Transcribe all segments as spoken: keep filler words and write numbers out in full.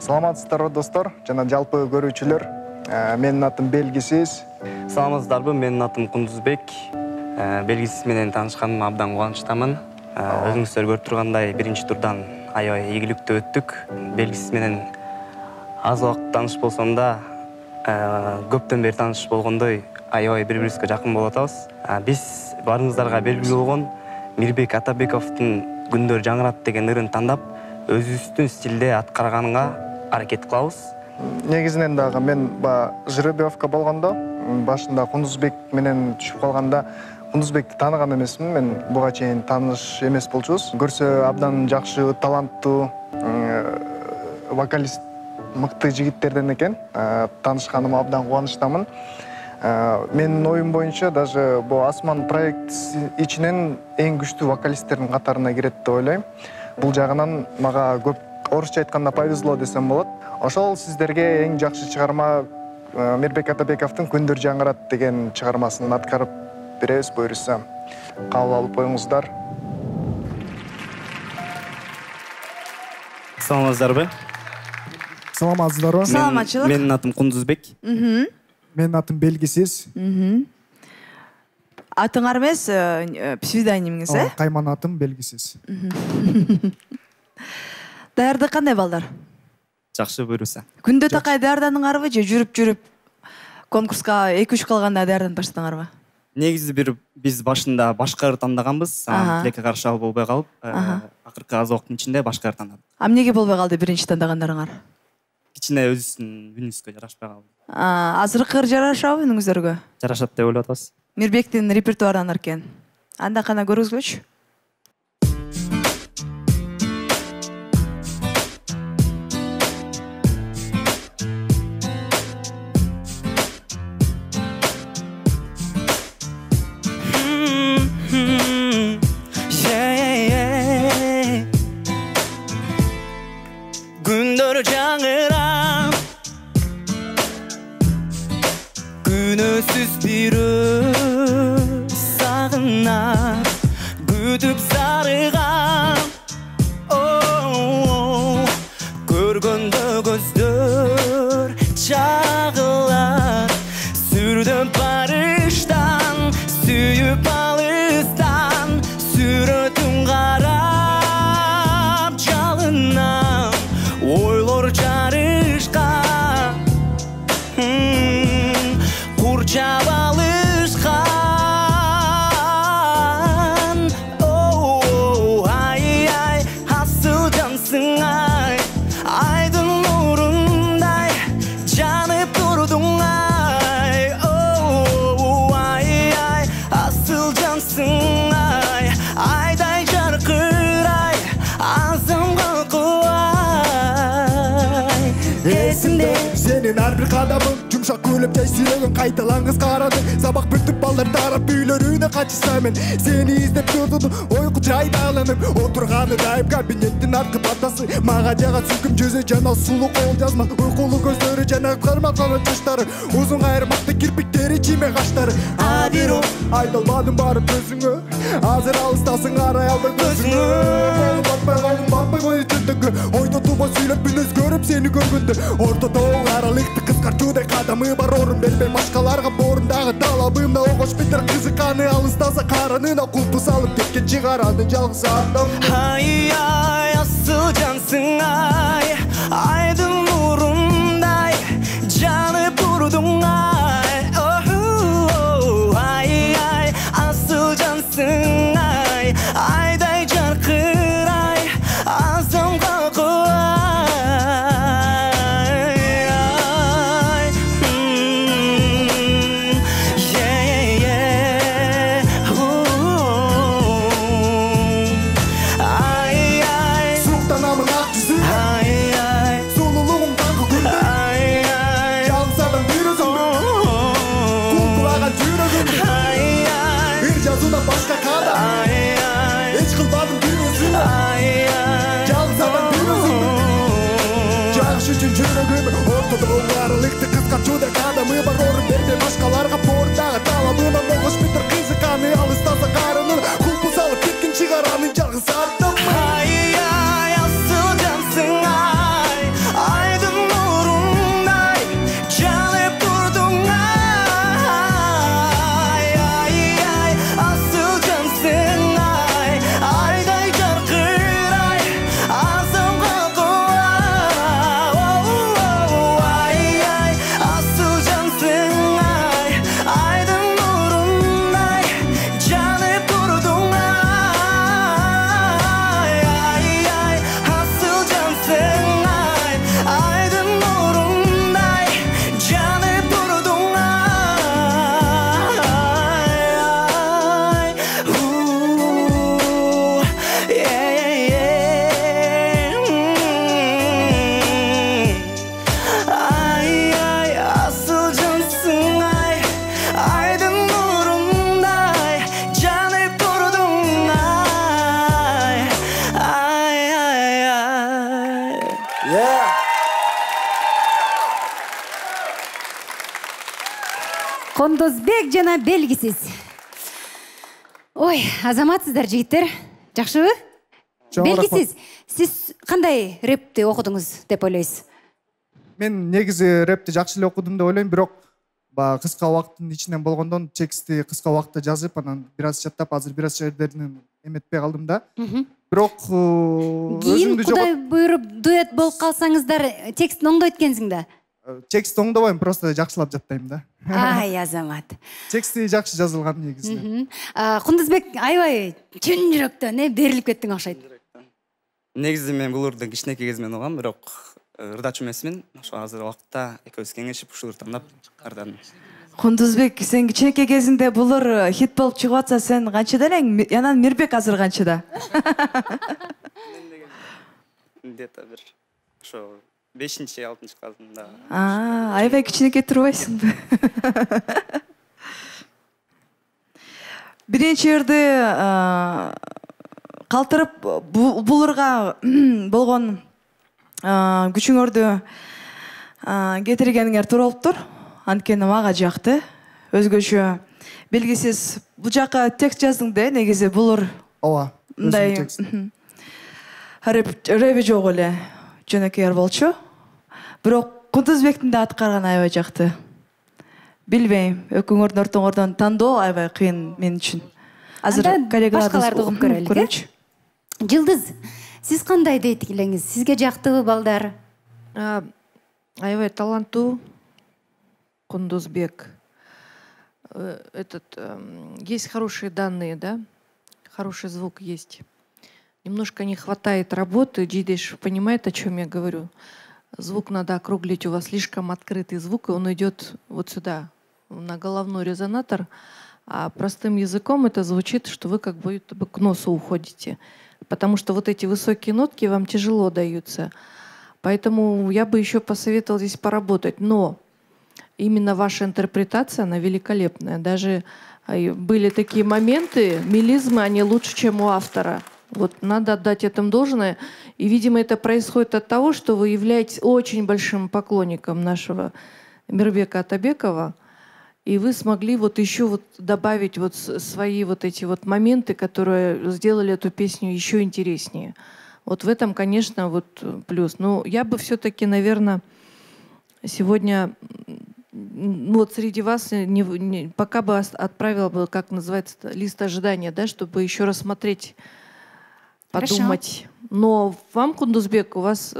Саламатсыздарбы достор жана жалпы көрүүчүлөр. Менин атым Белгисиз. Саламатсыздарбы, менин атым Кундузбек. Белгисиз менен таанышканыма абдан кубанычтамын. Өзүңүздөр көрүп тургандай биринчи турдан аябай ийгиликтүү өттүк. Белгисиз менен аз убакыт тааныш болсом да, көптөн бери тааныш болгондой аябай бири-бирибизге жакын болуп атабыз. Биз баарыңыздарга белгилүү болгон Мирбек Атабековдун Күндөр жаңырат деген ырын тандап, өзүбүздүн стилде аткарганга аракет кылабыз. Негизинен дагы мен ба жеребьевка болгондо, башында Кундузбек менен түшүп калганда, Кундузбекти тааныган эмесмин. Мен буга чейин тааныш эмес болчубуз. Көрсө абдан жакшы, таланттуу вокалист, мыкты жигиттерден экен. Таанышканыма абдан кубанычтамын. Менин оюм боюнча даже бу Асман проект ичинен эң күчтүү вокалисттердин катарына кирет деп ойлойм. Бул жагынан мага көп орусча айтканда повезло десем болот. Ошол сиздерге эң жакшы чыгарма Мирбек Атабековдун Күндөр жаңырат деген чыгармасын аткарып беребиз буюрса. Кабыл алып коюңуздар. Саламатсыздарбы? Саламатсыздарбы? Саламатчылык. Менин атым Кундузбек. Менин атым Белгисиз. Атыңар эмес, псевдонимиңиз, э? Кайман атым Белгисиз. Даярдык кандай балдар? Жакшы буйруса. Күндө такай даярдандыңарбы же жүрүп-жүрүп конкурска эки үч калганда даярданып баштадыңарбы? Негизи бир биз башында башка ыр тандаганбыз, тилекке каршы ал болбой калып, акыркы аз убакыттын ичинде башка ыр тандадык. А эмнеге болбой калды биринчи тандагандарыңар? Кичине өзүбүздүн үнүбүзгө жарашпай калды. Азыркы ыр жарашабы үнүңүздөргө? Жарашат деп ойлоп атабыз. Мирбектин репертуарынан экен. Анда кана көргүзгүлөчү. Күндөр жаңырам, күнөсүз бир өз сагынап, күтүп сарыгам. Көргөндө көздөр чагылат, сүрдөп барыштан, сүйүп алыстан, сүрөтүн карап жалынам. Ойлор жарышкан, курчап алышкан. Ай-ай, асыл жансың ай, айдын нурундай жанып турдуң ай. Ай-ай, асыл жансың ай, айдай жаркырай, азымга Эсимде сенин ар бир кадамың, жумшак күлүп жай сүйөгүң кайталаңыз карады. Сабак бүтүп балдар тарап үйлөрүнө качышса мен сени издеп турдум, ойку жайда алынып отурганы дайым кабинеттин аркы партасы. Мага жагат сүкүм жүзү жана сулуу кол жазма, уйкулуу көздөрү жана кармакалы чачтары, узун кайырмакты кирпиктери чиме каштары. Адиро айдалбадым барып өзүңө, азыр алыстасың арай албай көзүңө. Батпай калдым, батпай койду түндөгү, ойдо тубой сүйлөп мүнөз көрүп сени көргөндө. Ортодо аралыкты кыскартуудай кадамы бар, орун бербей башкаларга борундагы талабымда. Огош битер кызыканы алыстаса каранына кулпу салып кеткен чыгарады жалгыз адам. Ай-ай, асыл жансың ай, айдын нурундай жанып турдуң ай. Ай-ай, асыл жансың ай, айдай жаркырай, азамга Аралыкты кыскартуудай кадамы бар, орун бербей башкаларга борундагы талабына. Могуш битер кызыканы алыстаса карынын кулпу салып кеткен чыгаранын жалгыз адам. Ай-ай, асыл жансың ай, ай Кондозбек жана белгисиз. Ой, азаматсыздар жигиттер. Жакшыбы? Белгисиз. Сиз кандай рэпти окудуңуз деп ойлойсуз? Мен негизи рэпти жакшы эле окудум деп ойлойм, бирок баягы кыска убакыттын ичинен болгондон текстти кыска убакытта жазып, анан бир аз чаттап, азыр бир аз жердеринен эметпей калдым да. Бирок кийин Кудай буйруп дуэт болуп калсаңыздар, текстин оңдойт экенсиң да. Текстти оңдобойм, просто жакшылап жаттайм да. Ай, азамат. Тексти жакшы жазылган негизи. Кундузбек, аябай чын жүрөктөн берилип кеттиң окшойт. Негизи мен бул ырды кичинекей кезимден угам, бирок ырдачу эмесмин. Ошо азыр убакытта экөөбүз кеңешип ушул ырды тандап кардадым. Кундузбек, сен кичинекей кезинде бул ыр хит болуп чыгып атса, сен канчада элең? Анан Мирбек азыр канчада? Где-то бир ошо бешинчи, алтынчы классында. А, аябай кичинекей турбайсыңбы? Биринчи ырды калтырып бул ырга болгон күчүңөрдү кетиргениңер туура болуптур. Анткени мага жакты. Өзгөчө белгисиз бул жака текст жаздың да, негизи бул ыр. Ооба. Мындай рэп жок эле. Жөнөкөй болчу. Бирок Кундузбектин да аткарганы аябай жакты. Билбейм, экөөңөрдүн ортоңордон тандоо аябай кыйын мен үчүн. Азыр коллегаларды башкаларды угуп көрөлүк. Жылдыз, сиз кандай дейт элеңиз? Сизге жактыбы балдар? Аябай таланттуу Кундузбек. Этот есть хорошие данные, да? Хороший звук есть. Немножко не хватает работы. Джидеш понимает, о чем я говорю. Звук надо округлить. У вас слишком открытый звук, и он идет вот сюда, на головной резонатор. А простым языком это звучит, что вы как будто бы к носу уходите. Потому что вот эти высокие нотки вам тяжело даются. Поэтому я бы еще посоветовала здесь поработать. Но именно ваша интерпретация, она великолепная. Даже были такие моменты, мелизмы, они лучше, чем у автора. Вот надо отдать этому должное. И, видимо, это происходит от того, что вы являетесь очень большим поклонником нашего Мирбека Атабекова. И вы смогли вот еще вот добавить вот свои вот эти вот моменты, которые сделали эту песню еще интереснее. Вот в этом, конечно, вот плюс. Но я бы все-таки, наверное, сегодня вот среди вас не, не, пока бы отправила бы, как называется, лист ожидания, да, чтобы еще рассмотреть, подумать. Хорошо. Но вам, Кундузбек, у вас,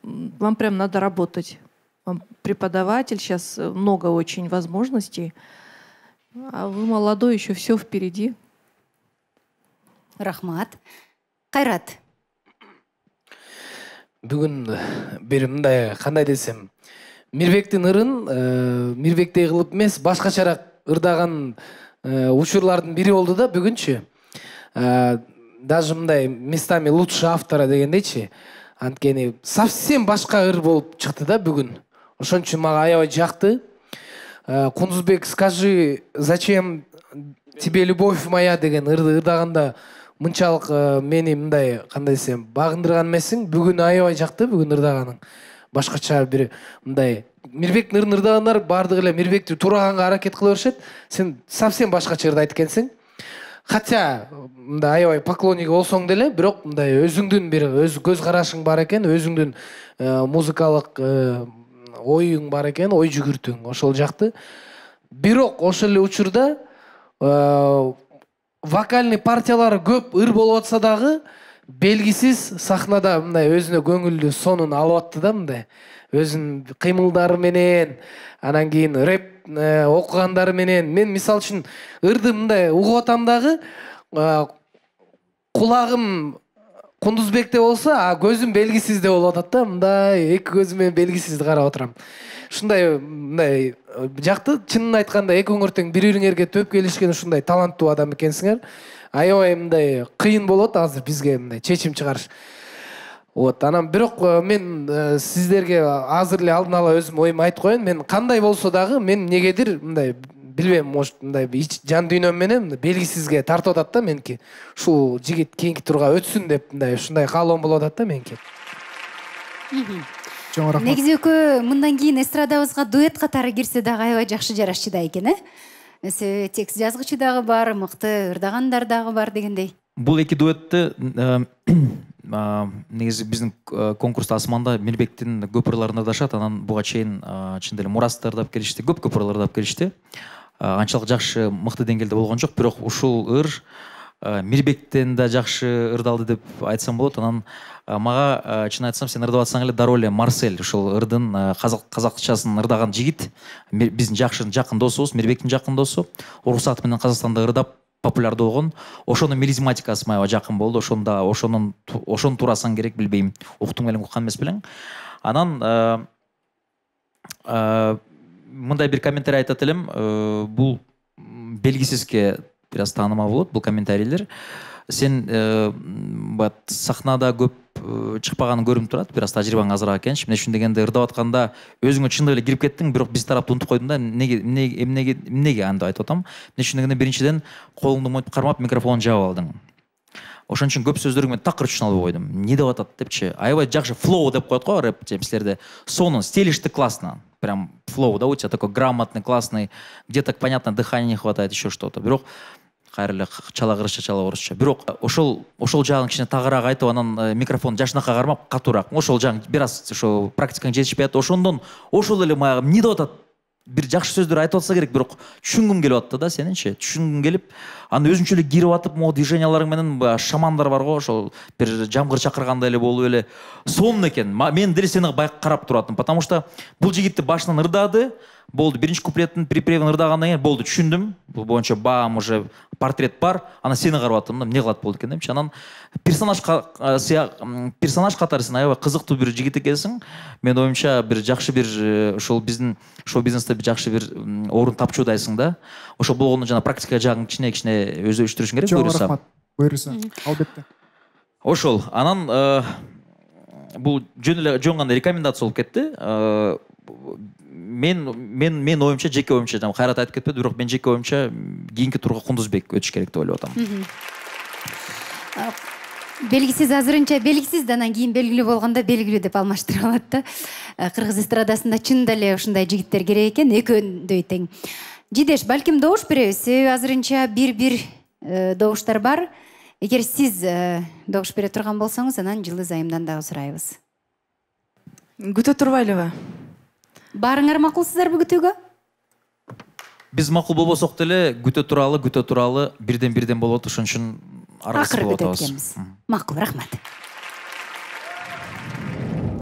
вам прям надо работать. Вам преподаватель, сейчас много очень возможностей. А вы молодой, еще все впереди. Рахмат. Кайрат. Бүгүн бир мындай кандай десем, Мирбектин ырын Мирбектей кылып эмес, башкачараак ырдаган учурлардын бири болду да бүгүнчү. Даже мындай местами лучше автора дегендейчи. Анткени совсем башка ыр болуп чыкты да бүгүн. Ошон үчүн мага аябай жакты. Кундузбек, скажи, зачем тебе любовь моя деген ырды ырдаганда мынчалык мени мындай кандай десем багындырган эмесиң. Бүгүн аябай жакты, бүгүн ырдаганың. Башкача бир мындай Мирбектин ырын ырдагандар бардыгы эле Мирбекти туураганга аракет кыла беришет. Сен совсем башкача ырдайт экенсиң. Хотя мындай аябай поклонниги болсоң деле, бирок мындай өзүңдүн бир өз көз карашың бар экен, өзүңдүн музыкалык оюң бар экен, ой жүгүртүң. Ошол жакты. Бирок ошол эле учурда вокальный партиялары көп ыр болуп атса дагы, белгисиз сахнада мындай өзүнө көңүлдүү сонун алып атты да, мындай өзүнүн кыймылдары менен, анан кийин рэп окугандары менен. Мен мисал үчүн ырды мындай угуп атам дагы, кулагым Кундузбекте болсо, а көзүм белгисизде болуп атат да, мындай эки көзүм менен белгисизди карап отурам. Ушундай мындай жакты, чынын айтканда экөөңөр тең бири-бириңерге төп келишкен ушундай таланттуу адам экенсиңер. Аябай мындай кыйын болот азыр бизге мындай чечим чыгарыш. Вот, анан бирок мен сиздерге азыр эле алдын ала өзүм оюмду айтып коеюн. Мен кандай болсо дагы мен негедир мындай билбейм, может мындай жан дүйнөм менен белгисизге тартып атат да меники. Ушул жигит кийинки турга өтсүн деп мындай ушундай каалоом болуп атат да меники. Чоң рахмат. Негизи экөө мындан кийин эстрадабызга дуэт катары кирсе дагы аябай жакшы жарашчу да экен, э? Эсе текст жазгычы дагы бар, мыкты ырдагандар дагы бар дегендей. Бул эки дуэтти негизи биздин конкурста Асманда Мирбектин көп ырларын ырдашат, анан буга чейин чын эле Мурасты ырдап келишти, көп көп ырлар ырдап келишти. Анчалык жакшы мыкты деңгээлде болгон жок, бирок ушул ыр Мирбектен да жакшы ырдалды деп айтсам болот. Анан мага чын айтсам, сен ырдап атсаң эле дароо эле Марсель, ушул ырдын казакчасын ырдаган жигит, биздин жакшы жакын досубуз, Мирбектин жакын досу, уруксат менен Казакстанда ырдап популярдуу болгон. Ошонун мелизматикасы аябай жакын болду. Ошондо ошонун ошону турасан керек, билбейм. Уктуң белең уккан эмес белең. Анан мындай бир комментарий айтат элем. Бул белгисизге бир аз таанымал болот бул комментарийлер. Сен сахнада көп чыкпаганың көрүнүп турат, бир аз тажрыйбаң азыраак экенчи. Мен ушун дегенде ырдап атканда өзүңө чындап эле кирип кеттиң, бирок биз тарапты унутуп койдуң да. Эмнеге эмнеге эмнеге анда айтып атам? Мен ушун дегенде биринчиден колуңду мойтуп кармап микрофонду жаап алдың. Ошон үчүн көп сөздөрүң мен такыр түшүнө албай койдум. Эмне деп атат депчи. Аябай жакшы флоу деп коет го рэп жемсилерде. Сонун стилишти классно. Прям флоу, да, у тебя такой грамотный, классный. Где-то понятно, дыхания не хватает, еще что-то. Бирок кайрылы чала кырысча, чала орусча. Бирок ошол ошол жагын кичине тагыраак айтып, анан микрофон жашынакка кармап катуураак. Ошол жагын бир аз ошо практикаң жетишпей атты. Ошондон ошол эле мага эмне деп атат? Бир жакшы сөздөр айтып атса керек, бирок түшүнгүм келип атты да сенинчи. Түшүнгүм келип, аны өзүнчө эле кирип атып, могу движенияларың менен шамандар бар го, ошол бир жамгыр чакыргандай эле болуп эле сонун экен. Мен деле сени байкы карап туратым, потому что бул жигитти башынан ырдады. Болду, биринчи куплеттин припевин ырдагандан кийин болду, түшүндүм. Бул боюнча баам уже портрет бар. Анан сени карап аттым, эмне кылат болду экен депчи. Анан персонаж персонаж катары сен аябай кызыктуу бир жигит экенсиң. Мен оюмча бир жакшы бир ошол биздин шоу-бизнесте бир жакшы бир орун тапчудайсың да. Ошол болгондо жана практика жагын кичине кичине өздөштүрүшүң керек, буйруса. Жок, рахмат. Буйруса. Албетте. Ошол. Анан бул жөн эле жөн гана рекомендация болуп кетти. Мен мен мен оюмча, жеке оюмча, жана Кайрат айтып кетпеди, бирок мен жеке оюмча кийинки турга Кундузбек өтүш керек деп ойлоп атам. Белгисиз азырынча белгисиз, анан кийин белгилүү болгондо белгилүү деп алмаштырып алат да. Кыргыз эстрадасында чын эле ушундай жигиттер керек экен, экөөдөй тең. Жидеш, балким добуш беребиз. Себеби азырынча бир-бир добуштар бар. Эгер сиз добуш бере турган болсоңуз, анан Жылдыз айымдан дагы сурайбыз. Күтө турбайлыбы? Баарыңар макулсуздарбы күтүүгө? Биз макул болбосок деле күтө туралы, күтө туралы бирден бирден болот, ошон үчүн аргасыз болот. Акыры күтөт экенбиз. Макул, рахмат.